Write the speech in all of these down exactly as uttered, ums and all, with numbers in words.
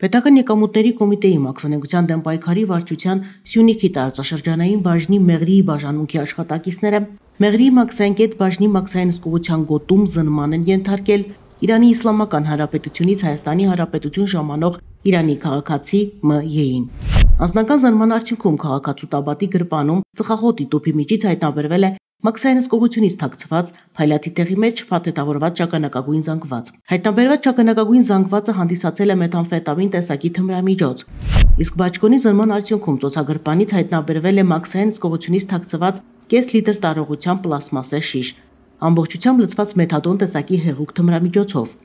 Պետական եկամուտների կոմիտեի մաքսանենգության դեմ պայքարի վարչության Սյունիքի տարածաշրջանային բաժնի Մեղրիի բաժանմունքի աշխատակիցները Մեղրիի մաքսայինկետ բաժնի մաքսային հսկողության գոտում զննման են ենթարկել Իրանի Իսլամական Հանրապետությունից Հայաստանի Հանրապետություն ժամանող Իրանի քաղաքացի Մ Ե-ին։ Անձնական զննման արդյունքում քաղաքացու Տաբատի գրպանում ծխախոտի տուփի միջից հայտնաբերվել է մաքսային հսկողությունից թաքցված փայլատի տեղի մեջ փաթեթավորված ճականակագույն զանգված։ Հայտնաբերված ճականակագույն զանգվածը հանդիսացել է մեթամֆետամին տեսակի թմրամիջոց։ Իսկ բաճկոնի զննման արդյունքում ծոցագրպանից հայտնաբերվել է մաքսային հսկողությունից թաքցված կես լիտր տարողությամբ պլաստմասե շիշ, ամբողջությամբ լցված մեթադոն տեսակի հեղուկ թմրամիջոցով։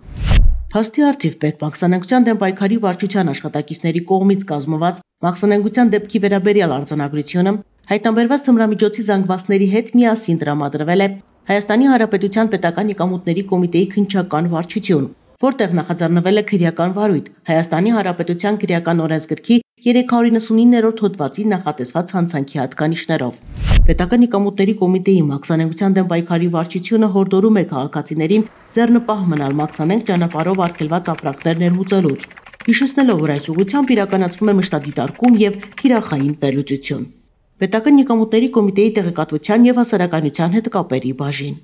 Փաստի առթիվ Պետ մաքսանենգության դեմ պայքարի վարչության աշխատակիցների կողմից կազմված մաքսանենգության դեպքի վերաբերյալ արձանագրությունը հայտնաբերված թմրամիջոցի զանգվածների հետ միասին տրամադրվել է Հայաստանի Հանրապետության Պետական եկամուտների կոմիտեի քննչական վարչություն, որտեղ նախաձեռնվել է քրեական վարույթ Հայաստանի Հանրապետության քրեական օրենսգրքի երեք հարյուր իննսունիններորդ հոդվածի նախատեսված հանցանքի հատկանիշներով։ Պետական եկամուտների կոմիտեի մաքսանենգության դեմ պայքարի վարչությունը հորդորում է քաղաքացիներին ձեռնպահ մնալ մաքսանենգ ճանապարհով արգելված ապրանքներ ներմուծելուց, հիշեցնելով, որ այս ուղղությամբ իրականացվում է մշտադիտարկում եւ թիրախային վերլուծություն։ Պետական եկամուտների կոմիտեի տեղեկատվության եւ հասարակայնության հետ կապերի բաժին։